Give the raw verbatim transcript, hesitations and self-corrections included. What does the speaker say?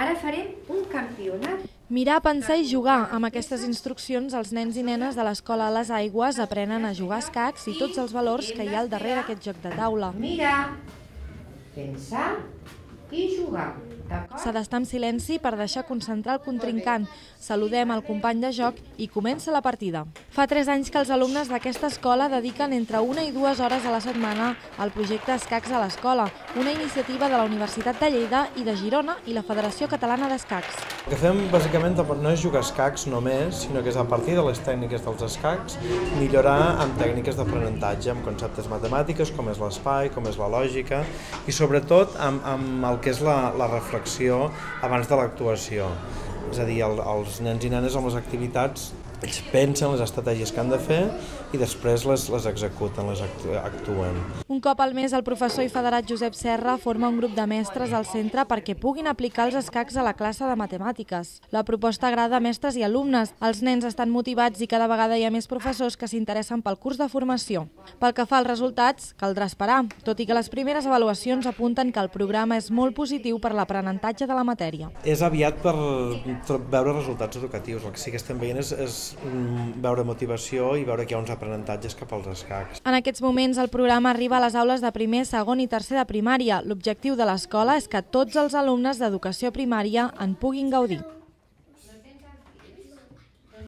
Ara farem un campionat. Mirar, pensar i jugar. Amb aquestes instruccions, els nens i nenes de l'Escola a les Aigües aprenen a jugar a escacs i tots els valors que hi ha al darrere d'aquest joc de taula. Mirar, pensar i jugar. S'ha d'estar en silenci per deixar concentrar el contrincant. Saludem el company de joc i comença la partida. Fa tres anys que els alumnes d'aquesta escola dediquen entre una i dues hores a la setmana al projecte Escacs a l'Escola, una iniciativa de la Universitat de Lleida i de Girona i la Federació Catalana d'Escacs. El que fem bàsicament no és jugar a escacs només, sinó que és a partir de les tècniques dels escacs millorar amb tècniques d'aprenentatge, amb conceptes matemàtiques com és l'espai, com és la lògica i sobretot amb, amb el que és la, la reflexió abans de l'actuació. És a dir, el, els nens i nenes amb les activitats ells pensen les estratègies que han de fer i després les, les executen, les actuen. Un cop al mes, el professor i federat Josep Serra forma un grup de mestres al centre perquè puguin aplicar els escacs a la classe de matemàtiques. La proposta agrada a mestres i alumnes. Els nens estan motivats i cada vegada hi ha més professors que s'interessen pel curs de formació. Pel que fa als resultats, caldrà esperar, tot i que les primeres avaluacions apunten que el programa és molt positiu per l'aprenentatge de la matèria. És aviat per veure resultats educatius. El que sí que estem veient és, és veure motivació i veure que hi ha uns aprenentatges cap als escacs. En aquests moments el programa arriba a les aules de primer, segon i tercer de primària. L'objectiu de l'escola és que tots els alumnes d'educació primària en puguin gaudir.